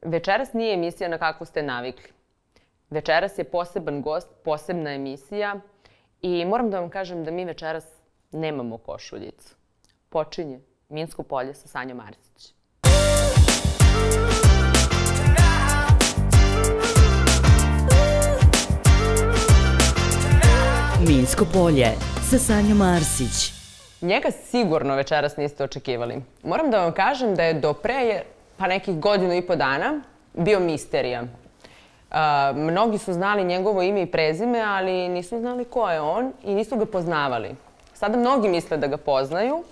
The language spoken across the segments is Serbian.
Večeras nije emisija na kakvu ste navikli. Večeras je poseban gost, posebna emisija i moram da vam kažem da mi večeras nemamo košuljicu. Počinje Minsko polje sa Sanjom Arsić. Minsko polje sa Sanjom Arsić. Njega sigurno večeras niste očekivali. Moram da vam kažem da je do pre nekih 1.5 godina bio misterija. Mnogi su znali njegovo ime i prezime, ali nisu znali ko je on i nisu ga poznavali. Sada mnogi misle da ga poznaju,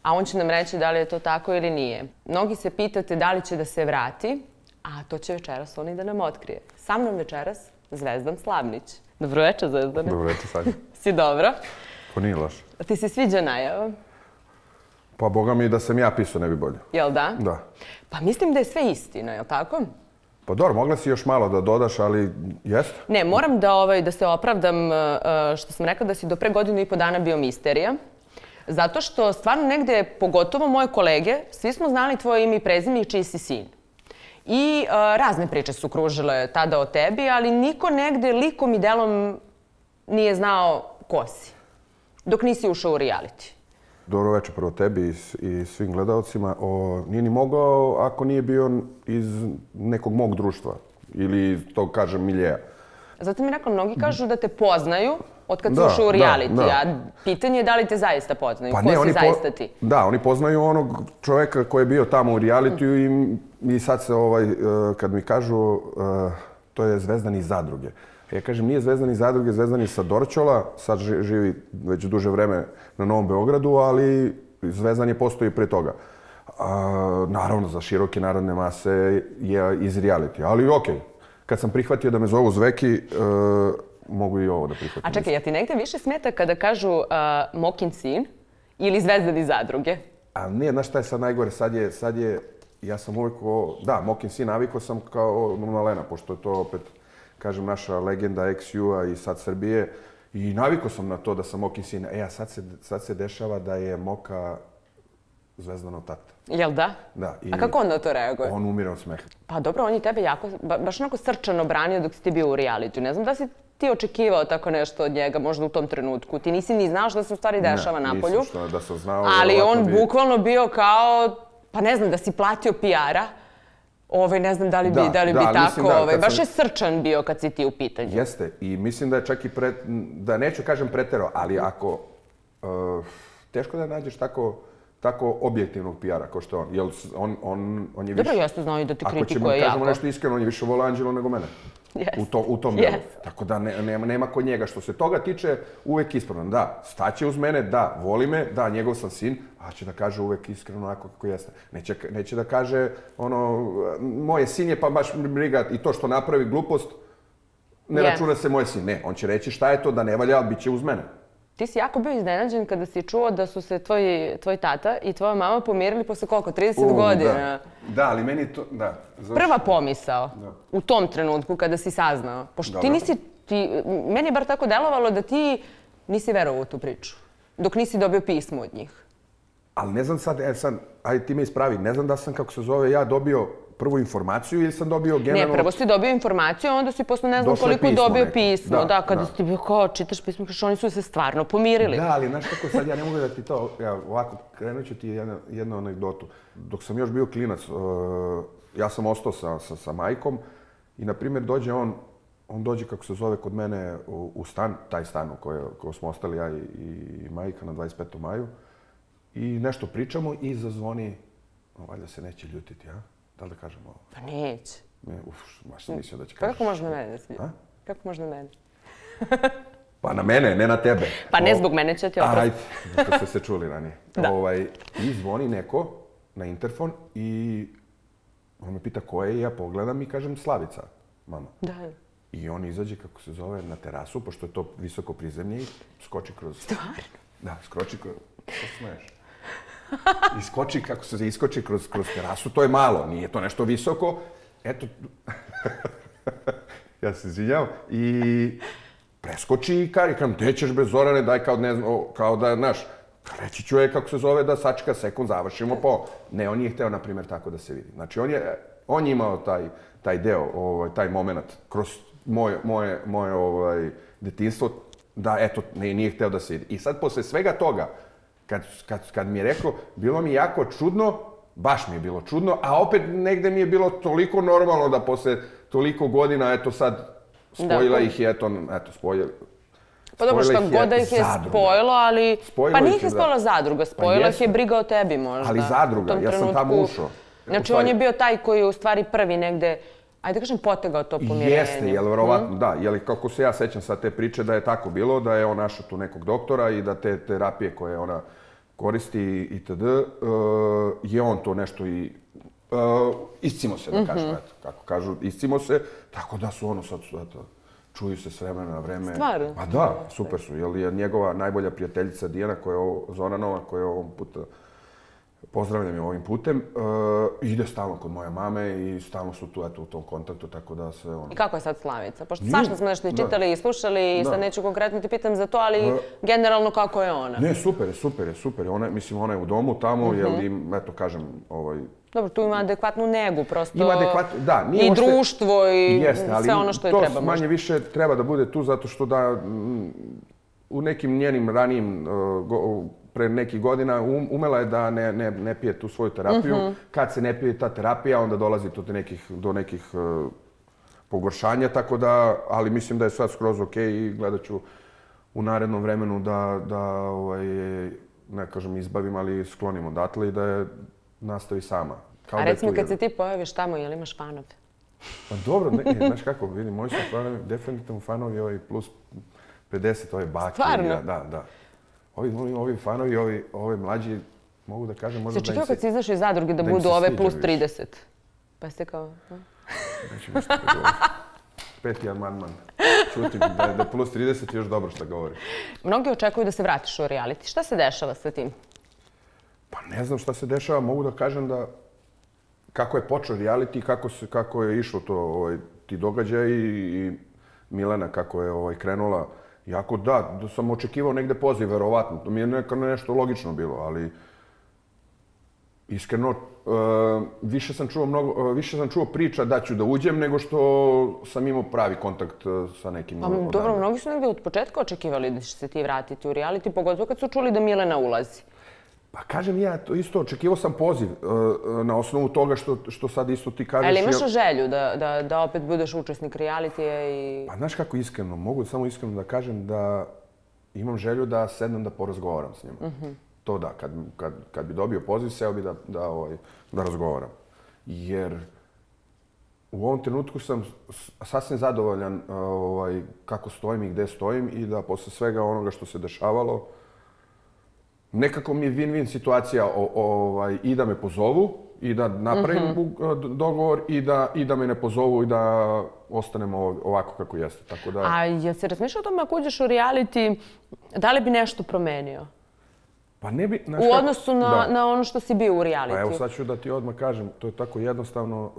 a on će nam reći da li je to tako ili nije. Mnogi se pitate da li će da se vrati, a to će večeras on i da nam otkrije. Sa mnom večeras Zvezdan Slavnić. Dobroveče, Zvezdane. Dobroveče, Sanja. Si dobro? Pa nije loše. Ti se sviđa najava? Pa boga mi da sam ja pisao ne bi bolje. Jel da? Da. Pa mislim da je sve istina, jel tako? Pa dobro, mogla si još malo da dodaš, ali jeste. Ne, moram da se opravdam što sam rekla da si do pre 1.5 dana bio misterija. Zato što stvarno negde, pogotovo moje kolege, svi smo znali tvoje ime i prezime i čiji si sin. I razne priče su kružile tada o tebi, ali niko negde likom i delom nije znao ko si. Dok nisi ušao u reality. Dobro večer prvo tebi i svim gledalcima. Nije ni mogao ako nije bio iz nekog mog društva ili tog, kažem, miljeja. Zato mi rekao, mnogi kažu da te poznaju od kad si ušao u reality, a pitanje je da li te zaista poznaju, ko si zaista ti? Da, oni poznaju onog čoveka koji je bio tamo u realitiju i sad se, kad mi kažu, to je Zvezdan iz Zadruge. Ja kažem, nije Zvezdan iz Zadruge, Zvezdan iz sa Dorćola, sad živi već duže vreme na Novom Beogradu, ali Zvezdan je postoji pre toga. Naravno, za široke narodne mase je iz realitija, ali okej. Kad sam prihvatio da me zovu Zveki, mogu i ovo da prihvatim. A čekaj, ja ti negde više smeta kada kažu Mokin sin ili Zvezdan iz Zadruge? A nije, znaš šta je sad najgore? Sad je, ja sam uvijek, da, Mokin sin, navikao sam kao Malena, pošto je to opet, kažem, naša legenda ex-U-a i sad Srbije. I navikao sam na to da sam Mokin sin. A sad se dešava da je Moka Zvezdanov tata. Jel da? Da. A kako on na to reaguje? On umire od smeha. Pa dobro, on je tebe jako, baš onako srčano branio dok si ti bio u realitiju. Ne znam da si ti očekivao tako nešto od njega, možda u tom trenutku. Ti nisi ni znao što se u stvari dešava napolju. Ne, nisam da sam znao. Ali on bukvalno bio kao, pa ne znam, da si platio PR-a. Ne znam da li bi tako, baš je srčan bio kad si ti u pitanju. Jeste, i mislim da je čak i, da neću kažem preterao, ali ako, teško da nađeš tako objektivnog PR-a kao što je on. On je više... Dobro, jeste znao i da te kritikuje jako. Ako ćemo kažemo nešto iskreno, on je više voleo Anđelo nego mene. U tom delu. Tako da nema kod njega. Što se toga tiče, uvek ispravno. Da, staće uz mene, da, voli me, da, njegov sam sin, a će da kaže uvek iskreno onako kako jeste. Neće da kaže moje sin je pa baš briga i to što napravi glupost, ne računa se moje sin. Ne, on će reći šta je to da ne valja, ali bit će uz mene. Ti si jako bio iznenađen kada si čuo da su se tvoj tata i tvoja mama pomirili posle koliko? 30 godina? Da, ali meni to, da. Prva pomisao u tom trenutku kada si saznao. Pošto ti nisi, meni je bar tako delovalo da ti nisi verovao u tu priču. Dok nisi dobio pismo od njih. Ali ne znam sad, ajde ti me ispravi, ne znam da sam, kako se zove, ja dobio prvu informaciju ili sam dobio generalno... Ne, prvo si dobio informaciju, a onda si posle ne znam koliko dobio pismo. Da, kada si ti bio kao čitaš pismo, kažeš oni su se stvarno pomirili. Da, ali znaš kako sad, ja ne mogu da ti to, ovako, krenut ću ti jednu anegdotu. Dok sam još bio klinac, ja sam ostao sa majkom i, na primjer, dođe on dođe, kako se zove, kod mene u stan, taj stan u kojem smo ostali ja i majka na 25. maju i nešto pričamo i zazvoni, valjda se neće ljutiti, a? Da li da kažem ovo? Pa neće. Baš sam mislio da će kažeš. Kako može na mene da se ljuti? Kako može na mene? Pa na mene, ne na tebe. Pa ne zbog mene će ti oprosti. Ajde, što ste se čuli ranije. I zvoni neko na interfon i on me pita ko je i ja pogledam i kažem Slavica, mama. Da. I on izađe, kako se zove, na terasu, pošto je to visoko prizemlje i skoči kroz... Stvarno? Da, skoči kroz... Što smeješ? Iskoči kroz terasu, to je malo, nije to nešto visoko. Eto, ja se izvinjavam, i preskoči i kažem, gde ćeš bre Zorane, daj kao da, znaš, reći ću je, kako se zove, da sačeka sekund, završimo po... Ne, on nije hteo, na primjer, tako da se vidi. Znači, On je imao taj deo, taj moment kroz moje detinjstvo, da eto, nije hteo da se ide. I sad, posle svega toga, kad mi je rekao, bilo mi jako čudno, baš mi je bilo čudno, a opet negde mi je bilo toliko normalno da posle toliko godina, eto sad, spojila ih je, eto, spojila. Pa dobro, šta god da ih je spojilo, ali... Pa nije ih je spojila zadruga, spojila ih je briga o tebi možda. Ali zadruga, ja sam tamo ušao. Znači, on je bio taj koji je u stvari prvi negde, ajde da kažem, potegao to pomirenje. Jeste, jel verovatno, da. Jel, kako se ja sećam sad te priče da je tako bilo, da je on našao tu nekog doktora i da te terapije koje ona koristi itd. Je on to nešto i iscimo se, da kažem, eto, kako kažu, iscimo se, tako da su ono sad, eto, čuju se s vremena na vreme. Stvarno? Pa da, super su, jer je njegova najbolja prijateljica Dijana, Zoranova, koja je ovog puta, pozdravljam je ovim putem, ide stalno kod moje mame i stalno su tu, eto, u tom kontaktu, tako da sve ono... I kako je sad Slavica? Pošto svašta smo nešto i čitali i slušali i sad neću konkretno ti pitam za to, ali generalno kako je ona? Ne, super je. Ona je u domu tamo, jer im, eto, kažem, Dobro, tu ima adekvatnu negu, prosto... Ima adekvatnu, da. I društvo i sve ono što je treba. To manje više treba da bude tu, zato što da u nekim njenim ranijim, pre nekih godina, umela je da ne pije tu svoju terapiju. Kad se ne pije ta terapija, onda dolazi do nekih pogoršanja, tako da, ali mislim da je sad skroz okej i gledat ću u narednom vremenu da ne kažem izbavim, ali sklonim odatle i da je nastavi sama. A recimo kad se ti pojaviš tamo, jel imaš fanove? Pa dobro, znaš kako, vidim, moji su fanovi, definitivno fanovi ovi plus 50, ove bake. Stvarno? Da. Ovi fanovi, ovi mlađi, mogu da kažem, možda da im se... Se čekao kad si izašao iz zadruge da budu ove plus 30? Pa ste kao... Neću nešto da govorim. Peti amandman. Čutim da je plus 30 još dobro što govori. Mnogi očekuju da se vratiš u reality. Šta se dešava sa tim? Pa ne znam šta se dešava, mogu da kažem da kako je počeo reality, kako je išlo to, ti događaji i Milena kako je krenula. Jako da sam očekivao negde poziv, verovatno. To mi je nešto logično bilo, ali iskreno više sam čuo priča da ću da uđem nego što sam imao pravi kontakt sa nekim. Pa dobro, mnogi su negde od početka očekivali da će se ti vratiti u reality, pogotovo kad su čuli da Milena ulazi. Pa kažem ja, to isto, očekivao sam poziv na osnovu toga što sad isto ti kažeš. Ali imaš želju da opet budeš učesnik realitija i... Pa znaš kako iskreno, mogu samo iskreno da kažem da imam želju da sednem da porazgovaram s njima. To da, kad bi dobio poziv, seo bi da razgovaram. Jer u ovom trenutku sam sasvim zadovoljan kako stojim i gde stojim i da posle svega onoga što se dešavalo, nekako mi je win-win situacija i da me pozovu i da napravim dogovor i da me ne pozovu i da ostanemo ovako kako jeste. A jel se razmišljao o tome ako uđeš u reality, da li bi nešto promenio? Pa ne bi... U odnosu na ono što si bio u reality? Pa evo sad ću da ti odmah kažem, to je tako jednostavno,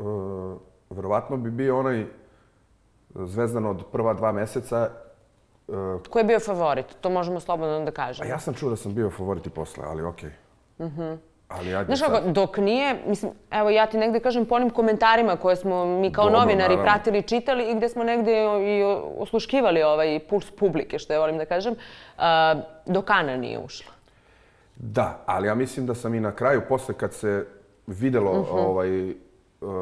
verovatno bi bio onaj Zvezdan od prva 2 meseca. Ko je bio favorit? To možemo slobodno da kažemo. A ja sam čuo da sam bio favorit i posle, ali okej. Znaš kako, dok nije, mislim, evo ja ti negde kažem po onim komentarima koje smo mi kao novinari pratili, čitali i gde smo negde i osluškivali ovaj puls publike, što ja volim da kažem, dok Ana nije ušla. Da, ali ja mislim da sam i na kraju, posle kad se videlo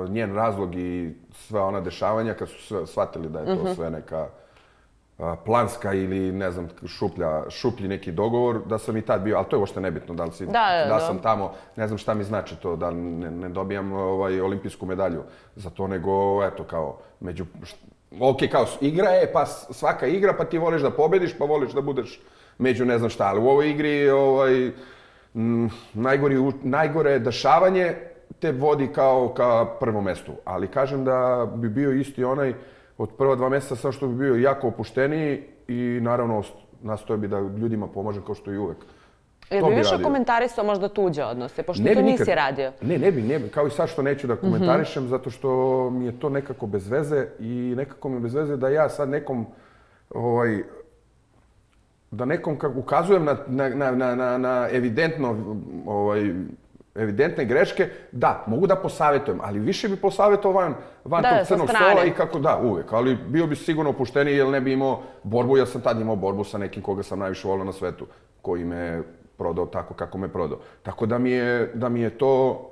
njen razlog i sva ona dešavanja, kad su shvatili da je to sve neka planska ili, ne znam, šuplji neki dogovor, da sam i tad bio, ali to je uopšte nebitno, da sam tamo, ne znam šta mi znači to, da ne dobijam olimpijsku medalju za to, nego, eto, kao, ok, kao, igra je, pa svaka igra, pa ti voliš da pobediš, pa voliš da budeš među ne znam šta, ali u ovoj igri najgore dešavanje te vodi kao ka prvom mestu, ali kažem da bi bio isti onaj od prva 2 meseca, samo što bi bio jako opušteniji i naravno nastoje bi da ljudima pomažem kao što i uvek. Jel bi više komentarisao možda tuđe odnose, pošto to nisi radio? Ne bi, kao i sad što neću da komentarišem, zato što mi je to nekako bez veze i nekako mi je bez veze da ja sad nekom ukazujem na evidentno evidentne greške, da, mogu da posavjetujem, ali više bi posavjetovao van tog crnog stola i kako da, uvek. Ali bio bi sigurno opušteniji jer ne bi imao borbu, jer sam tad imao borbu sa nekim koga sam najviše volio na svetu, koji me prodao tako kako me prodao. Tako da mi je to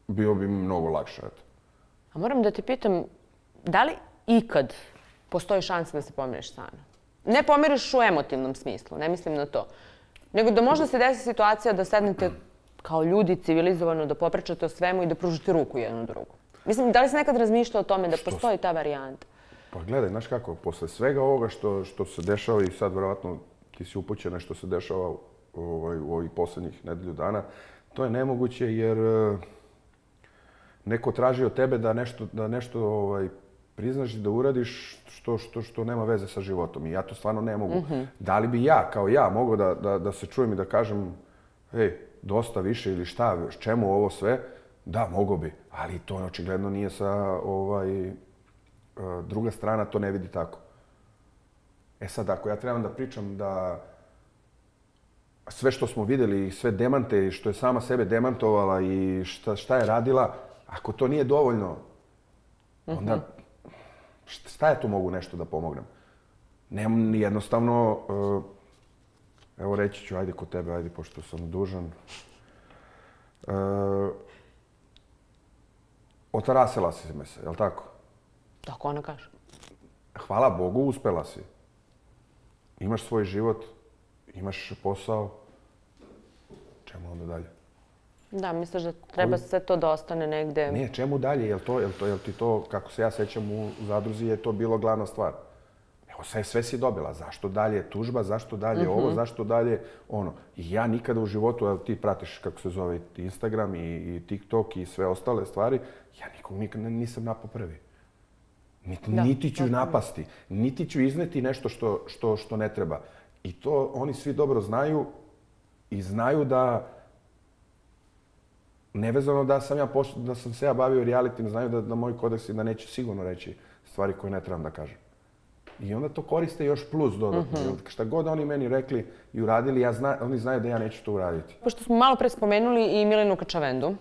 bio bi mnogo lakše. A moram da te pitam, da li ikad postoji šansa da se pomiriš sa Anom? Ne pomiriš u emotivnom smislu, ne mislim na to. Nego da možda se desi situacija da sednete kao ljudi civilizovano, da popričate o svemu i da pružite ruku jednu drugu. Mislim, da li si nekad razmišljao o tome da postoji ta varijanta? Pa gledaj, znaš kako, posle svega ovoga što se dešava i sad verovatno ti si upućena što se dešava u ovih poslednjih nedelju dana, to je nemoguće jer neko traži od tebe da nešto priznaš i da uradiš što nema veze sa životom. I ja to stvarno ne mogu. Da li bi ja, kao ja, mogao da se čujem i da kažem dosta više ili šta, čemu ovo sve? Da, mogao bi. Ali to očigledno nije sa druga strana, to ne vidi tako. E sad, ako ja trebam da pričam da sve što smo videli i sve demante i što je sama sebe demantovala i šta je radila, ako to nije dovoljno, onda šta ja tu mogu nešto da pomognem? Nemam jednostavno, evo reći ću, ajde kod tebe, ajde, pošto sam dužan. Otarasila si me se, je li tako? Tako ona kaže. Hvala Bogu, uspela si. Imaš svoj život, imaš posao. Čemu onda dalje? Da, misliš da treba sve to da ostane negde? Ne, čemu dalje? Jel ti to, kako se ja sećam u zadruzi, je to bilo glavna stvar? Evo, sve si dobila. Zašto dalje tužba, zašto dalje ovo, zašto dalje ono? I ja nikada u životu, evo ti pratiš kako se zove Instagram i TikTok i sve ostale stvari, ja nikog nikada nisam napao prvi. Niti ću napasti, niti ću izneti nešto što ne treba. I to oni svi dobro znaju i znaju da nevezano da sam se ja bavio realitim, znaju da moj kodeks je da neću sigurno reći stvari koje ne trebam da kažem. I onda to koriste još plus dodatno. Šta god oni meni rekli i uradili, oni znaju da ja neću to uraditi. Pošto smo malo pre spomenuli i Milenu Kačavendu,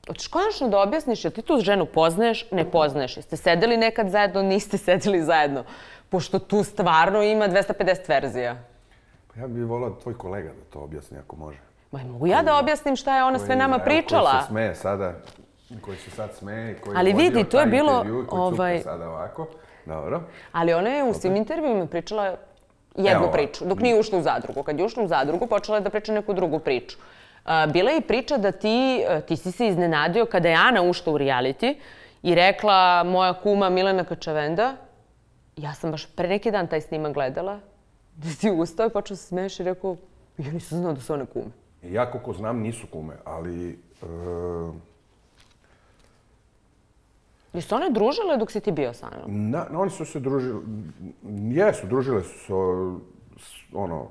hoćeš konačno da objasniš, jel ti tu ženu poznaješ, ne poznaješ? Jeste sedeli nekad zajedno, niste sedeli zajedno? Pošto tu stvarno ima 250 verzija. Ja bih volao tvoj kolega da to objasni ako može. Mogu ja da objasnim šta je ona sve nama pričala? Koji se smeje sada, koji se sad smeje, koji je vodio taj intervju, koji cuka sada ovako. Dobro. Ali ona je u svim intervjuima pričala jednu priču, dok nije ušla u zadrugu. Kad je ušla u zadrugu, počela je da priča neku drugu priču. Bila je i priča da ti si se iznenadio kada je Ana ušla u reality i rekla moja kuma Milena Kačavenda, ja sam baš pre neki dan taj snimak gledala, da si ustao i počeo se smeješ i rekao, ja nisam znao da su one kume. Ja koliko znam nisu kume, ali... Jesu one družile dok si ti bio sa Anom? Oni su se družili, družile su se, ono,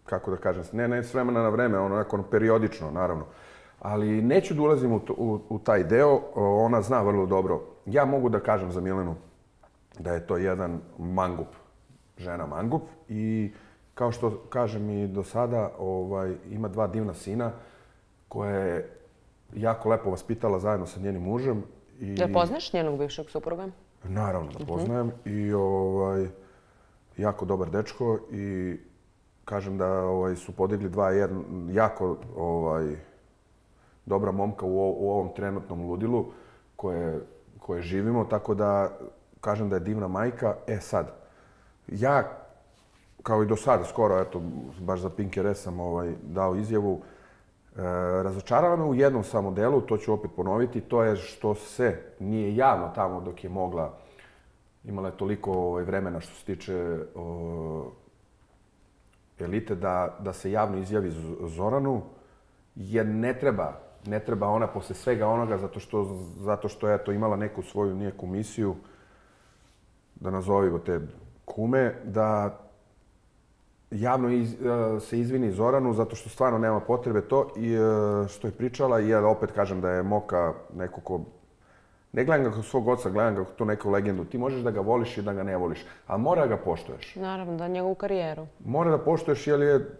kako da kažem, ne s vremena na vreme, onako periodično, naravno. Ali neću da ulazim u taj deo, ona zna vrlo dobro. Ja mogu da kažem za Milenu da je to jedan mangup, žena mangup i kao što kažem i do sada, ima 2 divna sina koje je jako lepo vaspitala zajedno sa njenim mužem. Da poznaš njenog bivšeg supruga? Naravno da poznajem i jako dobar dečko i kažem da su podigli 2 jako dobra momka u ovom trenutnom ludilu koje živimo, tako da kažem da je divna majka. E sad, ja kao i do sada, skoro, eto, baš za Pinker sam dao izjavu, razočarala me u jednom samo delu, to ću opet ponoviti, to je što se nije javno tamo dok je mogla, imala je toliko vremena što se tiče elite, da se javno izjavi Zoranu, jer ne treba ona posle svega onoga, zato što je imala neku svoju nijeku misiju, da nazovimo te kume, da javno se izvini Zoranu, zato što stvarno nema potrebe to i što je pričala, i ja opet kažem da je Moka neko ko... Ne gledam ga kao svog oca, gledam ga kao tu neku legendu. Ti možeš da ga voliš i da ga ne voliš, ali mora da ga poštuješ. Naravno, da njegovu karijeru. Mora da poštuješ, jer je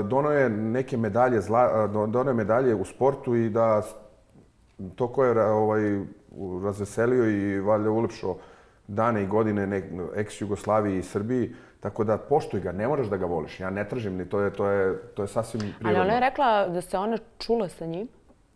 donao je neke medalje, donao je medalje u sportu i da to ko je razveselio i valjda ulepšao dane i godine ex-Jugoslaviji i Srbiji, tako da poštuj ga, ne moraš da ga voliš. Ja ne tražim ni, to je sasvim prirodno. Ali ona je rekla da se ona čula sa njim?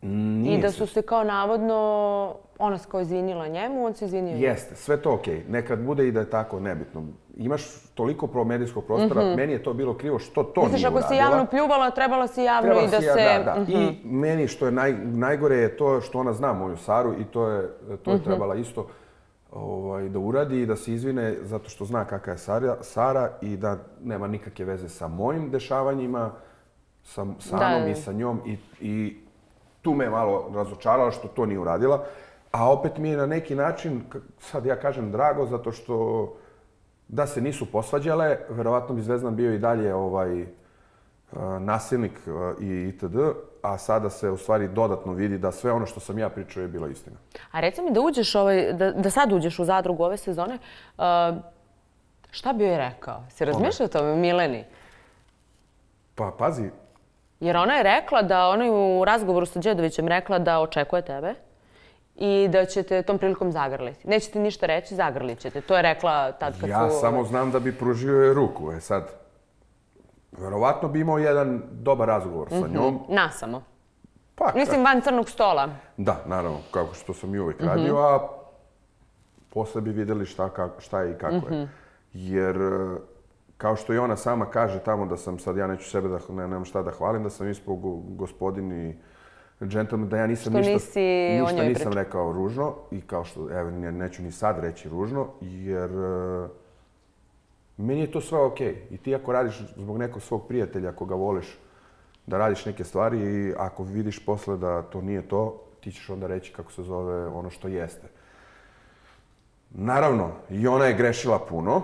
Nije I da su se kao navodno, ona se kao izvinila njemu, on se izvinio njemu. Jeste, sve to okej. Nekad bude i da je tako, nebitno. Imaš toliko medijskog prostora, meni je to bilo krivo što to nije uradila. Misliš, ako si javno pljuvala, trebala si javno i da se... Da. I meni što je najgore je to što ona zna moju Saru i to je trebala isto da uradi i da se izvine zato što zna kakva je Sara i da nema nikakve veze sa mojim dešavanjima, sa Anom i sa njom i tu me malo razočarala što to nije uradila. A opet mi je na neki način, sad ja kažem drago, zato što da se nisu posvađale, verovatno bi Zvezdan bio i dalje nasilnik i itd. A sada se u stvari dodatno vidi da sve ono što sam ja pričao je bila istina. A reci mi da uđeš, da sad uđeš u Zadrugu ove sezone, šta bi joj rekao? Si razmišljao o tome, Mileni? Pa pazi. Jer ona je rekla da, ona je u razgovoru sa Đedovićem rekla da očekuje tebe i da ćete tom prilikom zagrliti. Nećete ništa reći, zagrlit ćete. To je rekla tad kad su... Ja samo znam da bi pružio je ruku. Sad, verovatno bi imao jedan dobar razgovor sa njom. Nasamo. Mislim, van crnog stola. Da, naravno, kako što sam i uvijek radio, a posle bi vidjeli šta je i kako je. Jer, kao što i ona sama kaže tamo da sam sad, ja neću sebe da, nemam šta da hvalim, da sam ispao gospodin i džentlmen, da ja nisam ništa nisam rekao ružno i kao što, evo, neću ni sad reći ružno, jer meni je to sve okej. I ti ako radiš zbog nekog svog prijatelja, ako ga voliš, da radiš neke stvari i ako vidiš posle da to nije to, ti ćeš onda reći kako se zove ono što jeste. Naravno, i ona je grešila puno.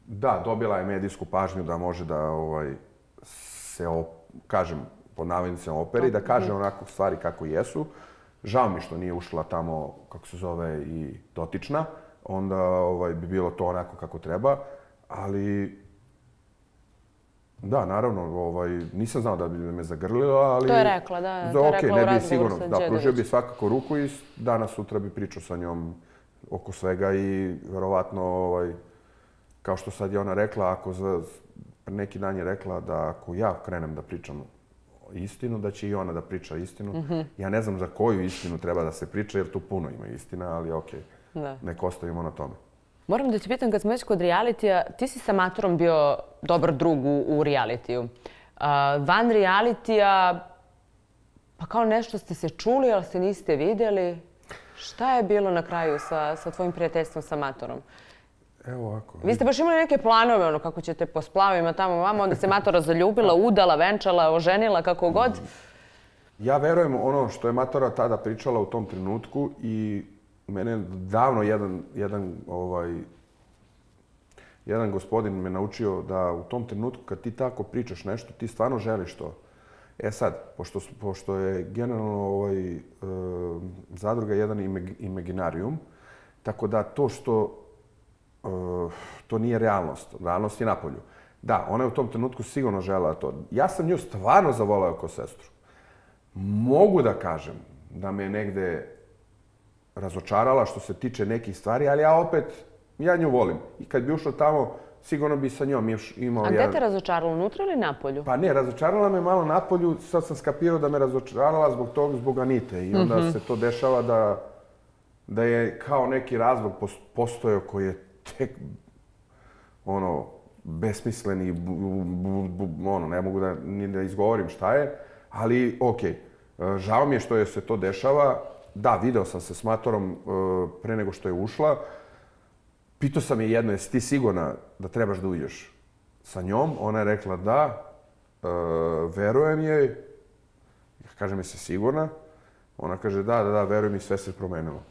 Da, dobila je medijsku pažnju da može da se, kažem, po navodnicima operi, da kaže onako stvari kako jesu. Žao mi što nije ušla tamo, kako se zove, i dotična. Onda bi bilo to onako kako treba. Ali, da, naravno, nisam znao da bi me zagrlila, ali... To je rekla, da. To je rekla u razgovoru sa Đedovićem. Da, pružio bi svakako ruku i danas sutra bi pričao sa njom oko svega i verovatno, kao što sad je ona rekla, ako neki dan je rekla da ako ja krenem da pričam istinu, da će i ona da priča istinu. Ja ne znam za koju istinu treba da se priča, jer tu puno ima istina, ali okej, nek ostavimo na tome. Moram da ti pitam, kad smo već kod realitija, ti si sa Matorom bio dobar drug u realitiju. Van realitija, pa kao nešto ste se čuli, ali se niste vidjeli. Šta je bilo na kraju sa tvojim prijateljstvom sa Matorom? Evo ovako. Vi ste baš imali neke planove, ono, kako ćete po splavima tamo vamo, onda se Matora zaljubila, udala, venčala, oženila, kako god. Ja verujem ono što je Matora tada pričala u tom trenutku i mene davno jedan gospodin me naučio da u tom trenutku kad ti tako pričaš nešto, ti stvarno želiš to. E sad, pošto je generalno Zadruga jedan imaginarijum, tako da to što to nije realnost. Realnost je napolju. Da, ona je u tom trenutku sigurno želela to. Ja sam nju stvarno zavoleo kao sestru. Mogu da kažem da me negde razočarala što se tiče nekih stvari, ali ja nju volim. I kad bi ušla tamo, sigurno bi sa njom imao... A gde te razočarala, unutra ili napolju? Pa ne, razočarala me malo napolju, sad sam skapirao da me razočarala zbog Anite. I onda se to dešava da je kao neki razlog postojao koji je tek besmislen i ne mogu ni da izgovorim šta je, ali okej. Žao mi je što je se to dešava. Da, video sam se s Matorom pre nego što je ušla. Pitao sam je jedno, jesi ti sigurna da trebaš da uđeš sa njom? Ona je rekla da, verujem joj. Kažem, jesi sigurna? Ona kaže da, verujem i sve se promenilo.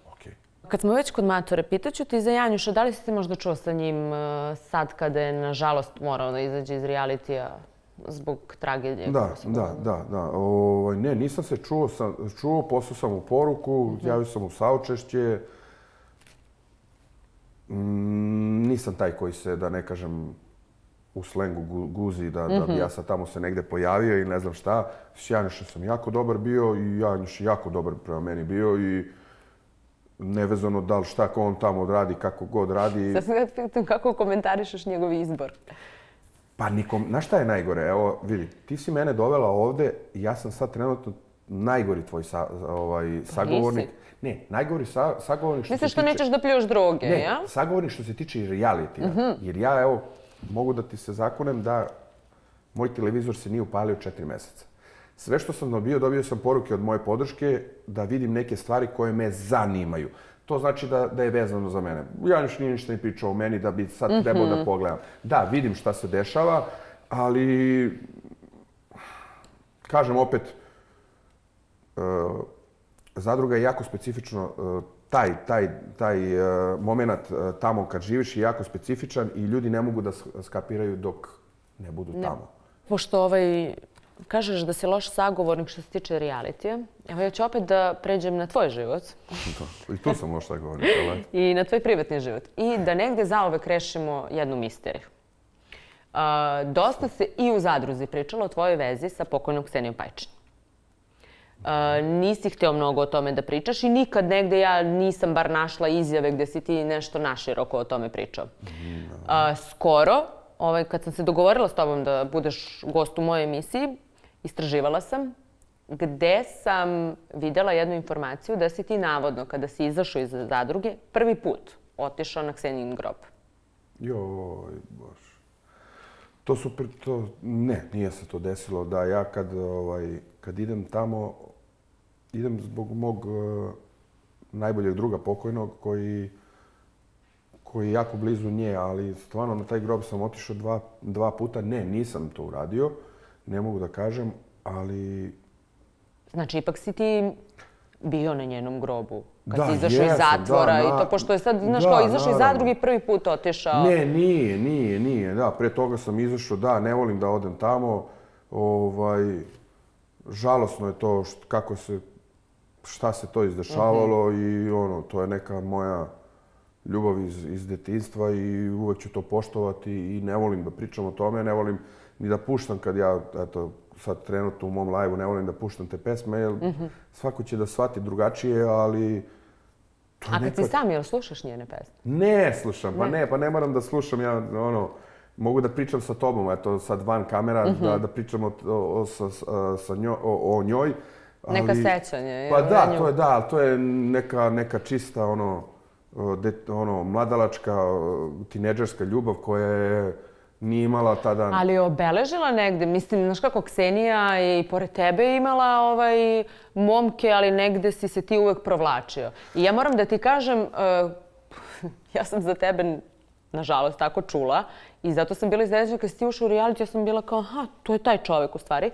Kad smo već kod Matore, pitaću ti za Janjuša, da li si ti možda čuo sa njim sad kada je, nažalost, morao da izađe iz realitija zbog tragedije? Da. Ne, nisam se čuo, poslao sam mu poruku, javio sam mu saučešće. Nisam taj koji se, da ne kažem, u slengu guzi da bi ja sad tamo se negde pojavio i ne znam šta. S Janjušem sam jako dobar bio i Janjuš je jako dobar prema meni bio i nevezano da li šta ko on tamo odradi, kako god radi. Sad sam ga pitam kako komentarišeš njegov izbor. Pa nikom, znaš šta je najgore? Evo, vidi, ti si mene dovela ovde i ja sam sad trenutno najgori tvoj sagovornik. Ne, najgori sagovornik što Misliš se tiče... što nećeš da pljuješ droge, ne, ja? sagovornik što se tiče i realitija. Jer ja, evo, mogu da ti se zakunem da moj televizor se nije upalio 4 meseca. Sve što sam dobio sam poruke od moje podrške da vidim neke stvari koje me zanimaju. To znači da je vezano za mene. Janjuš nije ništa ni pričao o meni da bi sad trebao da pogledam. Da, vidim šta se dešava, ali kažem opet, zadruga je jako specifično, taj moment tamo kad živiš je jako specifičan i ljudi ne mogu da skapiraju dok ne budu tamo. Pošto kažeš da si loš sagovornik što se tiče realitija, evo ja ću opet da pređem na tvoj život. I tu sam loš sagovornik. I na tvoj privatni život. I da negde zauvek rešimo jednu misteriju. Dosta se i u zadruzi pričalo o tvojoj vezi sa pokojnom Ksenijom Pajčin. Nisi hteo mnogo o tome da pričaš i nikad negde ja nisam bar našla izjave gde si ti nešto naširoko o tome pričao. Skoro, kad sam se dogovorila s tobom da budeš gost u mojoj emisiji, istraživala sam gde sam videla jednu informaciju da si ti navodno, kada si izašao iz zadruge, prvi put otišao na Ksenijin grob. Joj, bož. Ne, nije se to desilo. Da, ja kad idem tamo, idem zbog mog najboljeg druga pokojnog koji je jako blizu nje, ali stvarno na taj grob sam otišao dva puta. Ne, nisam to uradio, ne mogu da kažem, ali... Znači, ipak si ti bio na njenom grobu kad si izašao iz zatvora i to, pošto je sad, znaš, kao izašao iz zadruge i prvi put otišao. Ne, nije. Da, pre toga sam izašao, da, ne volim da odem tamo. Žalosno je to šta se to izdešavalo i to je neka moja ljubav iz detinjstva i uvek ću to poštovati i ne volim da pričam o tome, ne volim ni da puštam kad ja, eto, sad trenutno u mom live-u ne volim da puštam te pesme, jer svako će da shvati drugačije, ali... A kad si sam, jel slušaš njene pesme? Ne slušam, pa ne moram da slušam, ja, mogu da pričam sa tobom, eto, sad van kamera, da pričam o njoj. Neka sećanja. Pa da, to je neka čista, mladalačka, tinejdžerska ljubav koja je nije imala tada... Ali je obeležila negde, mislim, znaš kako, Ksenija je i pored tebe imala momke, ali negde si se ti uvek provlačio. I ja moram da ti kažem, ja sam za tebe, nažalost, tako čula i zato sam bila iznenađena kad si ti ušao u reality, ja sam bila kao, aha, to je taj čovek u stvari.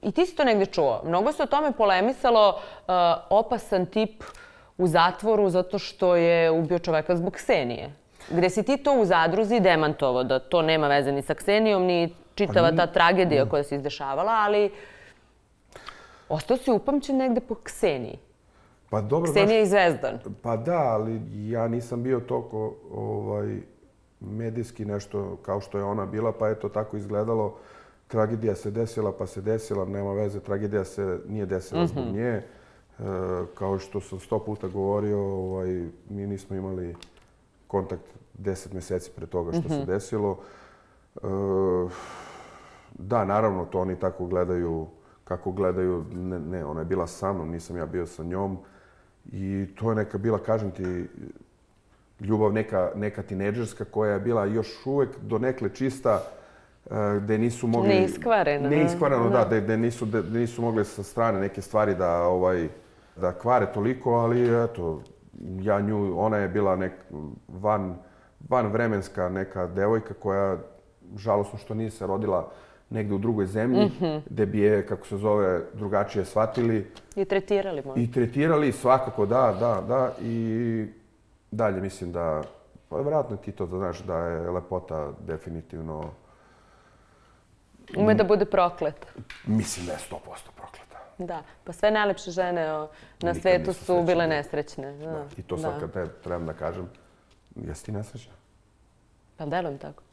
I ti si to negde čuo. Mnogo se o tome polemisalo, opasan tip u zatvoru zato što je ubio čoveka zbog Ksenije. Gde si ti to u zadruzi demantovao, da to nema veze ni sa Ksenijom, ni čitava ta tragedija koja se izdešavala, ali ostao si upamćen negde po Kseniji. Pa dobro, Ksenija i Zvezdan. Pa da, ali ja nisam bio toliko medijski nešto kao što je ona bila, pa je to tako izgledalo. Tragedija se desila, pa se desila, nema veze, tragedija se nije desila zbog nje. Kao što sam 100 puta govorio, mi nismo imali kontakt 10 meseci pre toga što se desilo. Da, naravno, to oni tako gledaju, kako gledaju. Ne, ona je bila sa mnom, nisam ja bio sa njom. I to je neka bila, kažem ti, ljubav neka tinejdžerska koja je bila još uvek donekle čista, gde nisu mogli... Neiskvareno. Neiskvareno, da, gde nisu mogli sa strane neke stvari da kvare toliko, ali eto, ona je bila vanvremenska neka devojka koja, žalosno što nije se rodila negde u drugoj zemlji, gde bi je, kako se zove, drugačije shvatili. I tretirali možda. I tretirali, svakako, da. I dalje mislim da, pa vjerojatno ti to znaš, da je lepota definitivno... Ume da bude prokleta. Mislim da je 100% prokleta. Da, pa sve najlepše žene na svetu su bile nesrećne. I to sad kad te trebam da kažem, jesi ti nesrećna? Pa delujem tako.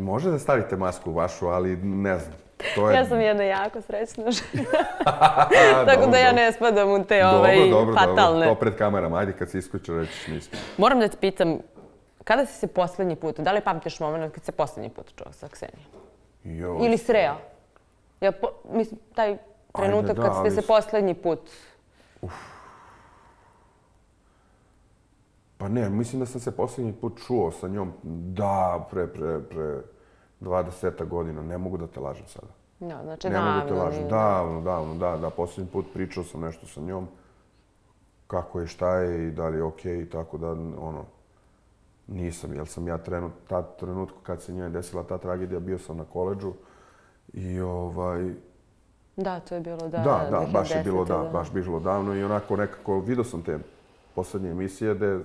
Može da stavite masku vašu, ali ne znam. Ja sam jedna jako srećna žena. Tako da ja ne spadam u te fatalne. To pred kamerama. Ajde, kad se isključe, rećiš nisam. Moram da te pitam, kada si se poslednji put, da li pamtiš moment kad se poslednji put čuo sa Ksenijom? Ili sreo? Mislim, taj trenutak kad ste se poslednji put... Pa ne, mislim da sam se poslednji put čuo sa njom, da, pre 20 godina, ne mogu da te lažem sada. Da, znači davno. Ne mogu da te lažem, davno, da, poslednji put pričao sam nešto sa njom, kako je, šta je i da li je okej, i tako da, nisam, jer sam ja tad trenutku kad se njoj desila ta tragedija, bio sam na koledžu i Da, to je bilo, da. Da, baš je bilo, baš bilo davno i onako nekako, vidio sam te poslednje emisije gde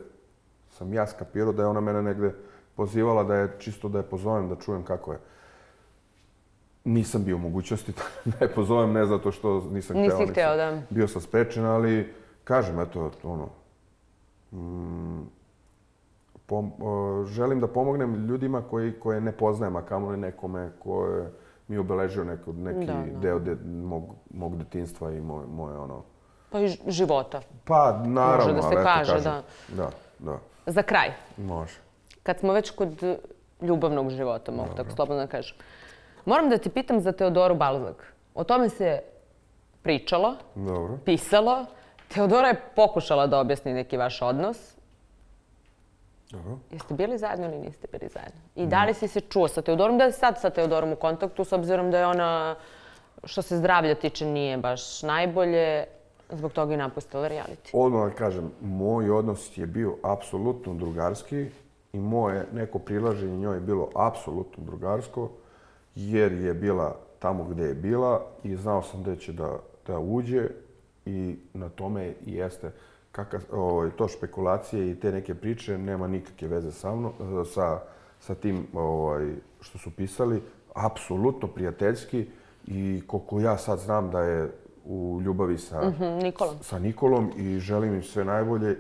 sam ja skapirao da je ona mene negde pozivala da je čisto da je pozovem, da čujem kako je. Nisam bio u mogućnosti da je pozovem, ne zato što nisam hteo. Nisi hteo, da. Bio sam sprečen, ali kažem, eto, želim da pomognem ljudima koje ne poznajem, a kamoli nekome koje mi je obeležio neki deo mog detinjstva i moje Pa i života. Pa, naravno, može da se kaže, da. Da. Za kraj. Može. Kad smo već kod ljubavnog života, mogu tako slobodno da kažem. Moram da te pitam za Teodoru Balzak. O tome se pričalo, pisalo. Teodora je pokušala da objasni neki vaš odnos. Dobro. Jeste bili zajedno ili niste bili zajedno? I da li si se čuo sa Teodorom? Da li si sad sa Teodorom u kontaktu, s obzirom da je ona, što se zdravlja tiče, nije baš najbolje, zbog toga i napustila reality? Odmah da kažem, moj odnos je bio apsolutno drugarski i moje neko prilaženje njoj je bilo apsolutno drugarsko, jer je bila tamo gde je bila i znao sam gde će da uđe i na tome i jeste to špekulacije i te neke priče nema nikakve veze sa tim što su pisali. Apsolutno prijateljski i koliko ja sad znam da je u ljubavi sa Nikolom i želim im sve najbolje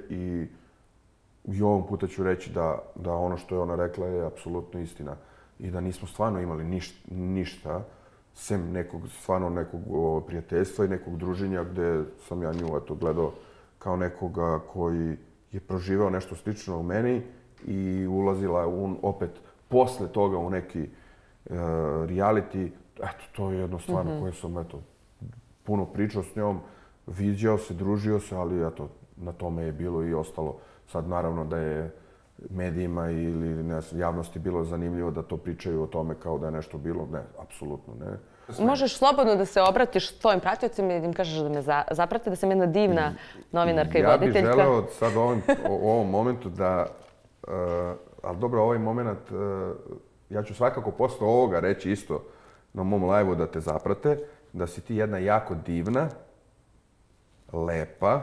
i ovog puta ću reći da ono što je ona rekla je apsolutno istina i da nismo stvarno imali ništa sem nekog prijateljstva i nekog druženja gde sam ja nju gledao kao nekoga koji je proživao nešto slično u meni i ulazila opet posle toga u neki reality. Eto, to je jedno stvarno koje sam puno pričao s njom, viđao se, družio se, ali eto, na tome je bilo i ostalo. Sad naravno da je medijima ili javnosti bilo zanimljivo da to pričaju o tome kao da je nešto bilo. Ne, apsolutno ne. Možeš slobodno da se obratiš svojim pratiocima i da im kažeš da me zaprate, da sam jedna divna novinarka i voditeljka. Ja bih želeo sad u ovom momentu da, ali dobro, ovaj moment, ja ću svakako posle ovoga reći isto na mom live-u da te zaprate, da si ti jedna jako divna, lepa,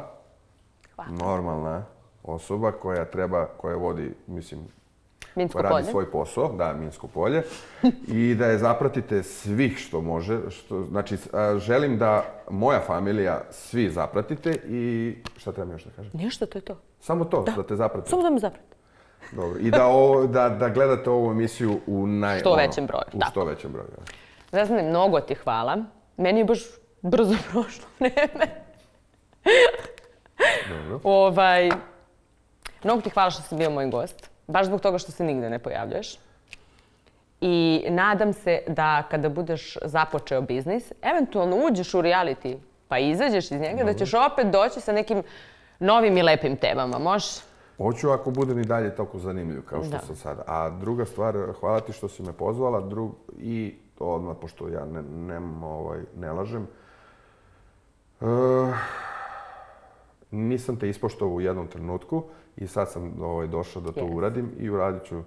normalna osoba koja vodi, mislim, koja radi svoj posao, da, Minsko polje, i da je zapratite svih što može. Znači, želim da moja familija svi zapratite i šta treba mi još da kažem? Ništa, to je to. Samo to, da te zapratite? Samo da me zapratite. Dobro, i da gledate ovu emisiju u što većem broju. U što većem broju. Zvezdane, mnogo ti hvala. Meni je baš brzo prošlo vreme. Dobro. Mnogo ti hvala što si bio moj gost. Baš zbog toga što se nigde ne pojavljaš. I nadam se da kada budeš započeo biznis, eventualno uđeš u reality pa izađeš iz njega, da ćeš opet doći sa nekim novim i lepim temama. Može? Hoću ako budem i dalje toliko zanimljiv kao što sam sada. A druga stvar, hvala ti što si me pozvala i odmah, pošto ja ne lažem, nisam te ispoštovao u jednom trenutku i sad sam došao da to uradim i uradit ću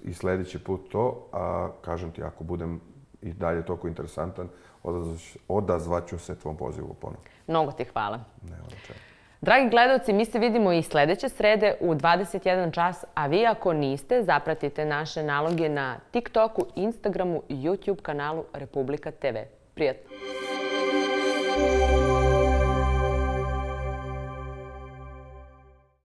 i sledeći put to, a kažem ti, ako budem i dalje toliko interesantan, odazvaću se tvom pozivu ponovno. Mnogo ti hvala. Nema na čemu. Dragi gledalci, mi se vidimo i sledeće srede u 21 čas, a vi ako niste, zapratite naše naloge na TikToku, Instagramu i YouTube kanalu Republika TV. Prijatno!